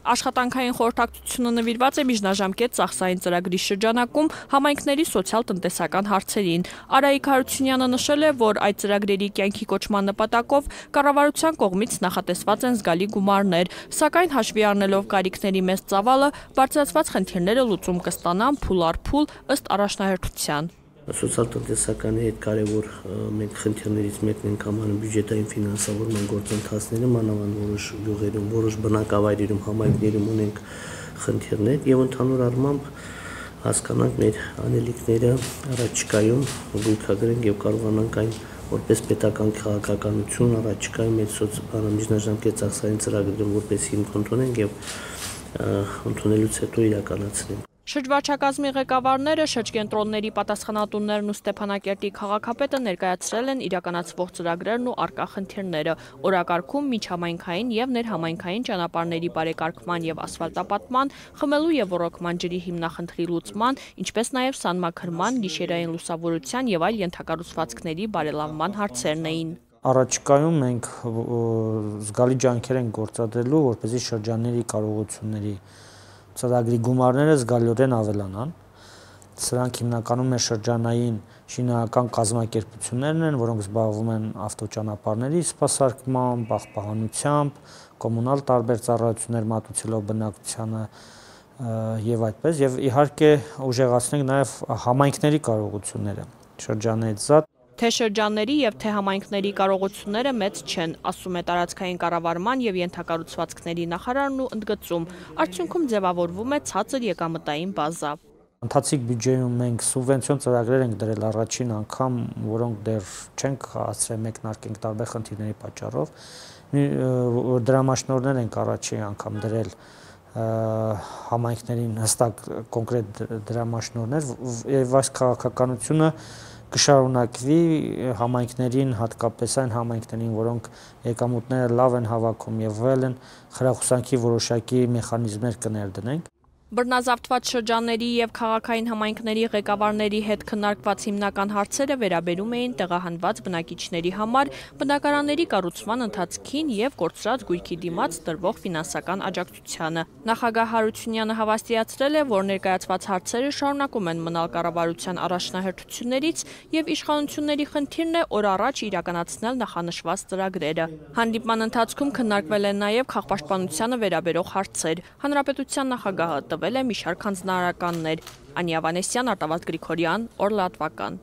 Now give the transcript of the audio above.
Աշխատանքային խորհրդակցությունը նվիրված է միջնաժամկետ ծախսային ծրագրի շրջանակում համայնքների սոցիալ-տնտեսական հարցերին։ Արայիկ Հարությունյանը նշել է, որ այդ ծրագրերի կյանքի կոչման նպատակով կառավարության կողմից նախատեսված են զգալի գումարներ, սակայն հաշվի առնելով կարիքների մեծ ծավալը, բարձրացված խնդիրները լուծում կստանան փուլ առ փուլ ըստ առաջնահերթության։ Սոցիալ-տնտեսականի հետ կարևոր մենք խնդիրներից մեկն ենք համարում բյուջետային ֆինանսավորման գործընթացները, մանավանդ որոշ գյուղերում, որոշ բնակավայրերում, համայնքներում ունենք խնդիրներ եւ ընդհանուր առմամբ հասկանանք մեր անելիքները առաջիկայում գույքագրենք եւ կարողանանք այն որպես պետական քաղաքականություն առաջիկայում մեր միջնաժամկետ ծախսային ծրագրերը որպես հիմք ընդունենք եւ ընդունելուց հետո իրականացնենք։ Շրջվարչակազմի ղեկավարները, շրջկենտրոնների պատասխանատուներն ու Ստեփանակերտի քաղաքապետը ներկայացրել են իրականացվող ծրագրերն ու առկա խնդիրները, օրակարգում միջհամայնքային եւ ներհամայնքային ճանապարհների բարեկարգման եւ ասֆալտապատման, խմելու եւ ոռոգման ջրի հիմնախնդրի լուծման, ինչպես նաեւ սանմաքրման, գիշերային լուսավորության եւ այլ ենթակառուցվածքների բարելավման հարցերն էին։ Առաջիկայում մենք զգալի ջանքեր ենք գործադրելու, որպեսզի շրջանների կարողությունների ծրագրի գումարները զգալիորեն ավելանան։ Սրանք հիմնականում մեր շրջանային շինարարական կազմակերպություններն են, որոնք զբաղվում են ավտոճանապարհների սպասարկմամբ, պահպանությամբ, կոմունալ տարբեր ծառայություններ մատուցելով բնակչությանը եւ այդպես, եւ իհարկե ուժեղացնենք նաեւ համայնքների կարողությունները շրջաններից զատ։ Թե շրջանների եւ թե համայնքների կարողությունները մեծ չեն, ասում է տարածքային կառավարման եւ ենթակառուցվածքների նախարարն ու ընդգծում, արդյունքում ձևավորվում է ցածր եկամտային բազա։ Ընթացիկ բյուջեում մենք սուբվենցիոն ծրագրեր ենք դրել առաջին անգամ, որոնք դեռ չենք հասցրել մեկնարկենք տարբեր խնդիրների պատճառով։ Դրամաշնորհներ ենք առաջին անգամ դրել համայնքներին հստակ կոնկրետ դրամաշնորհներ եւ այս քաղաքականությունը կշարունակվի համայնքներին, հատկապես այն համայնքներին, որոնք եկամուտները լավ են հավաքում եւ վել են, խրախուսանքի որոշակի մեխանիզմներ կներդնենք։ Բռնազավթված շրջանների եւ քաղաքային համայնքների ղեկավարների հետ քննարկված հիմնական հարցերը վերաբերում էին տեղահանված բնակիչների համար բնակարանների կառուցման ընթացքին եւ կորցրած գույքի դիմաց տրվող ֆինանսական աջակցությանը։ Նախագահ Հարությունյանը հավաստիացրել է, որ ներկայացված հարցերը շարունակում են մնալ կառավարության առաջնահերթություններից եւ իշխանությունների խնդիրն է օր առաջ իրականացնել նախանշված ծրագրերը։ Հանդիպման ընթացքում քննարկվել են նաեւ քաղաքապաշտպանությանը վերաբերող հարցեր։ Հանրապետության նախագահը տվել է մի շարք հանձնարարականներ։ Անի Ավանեսյան, Արտավազդ Գրիգորյան, Օր լատվական։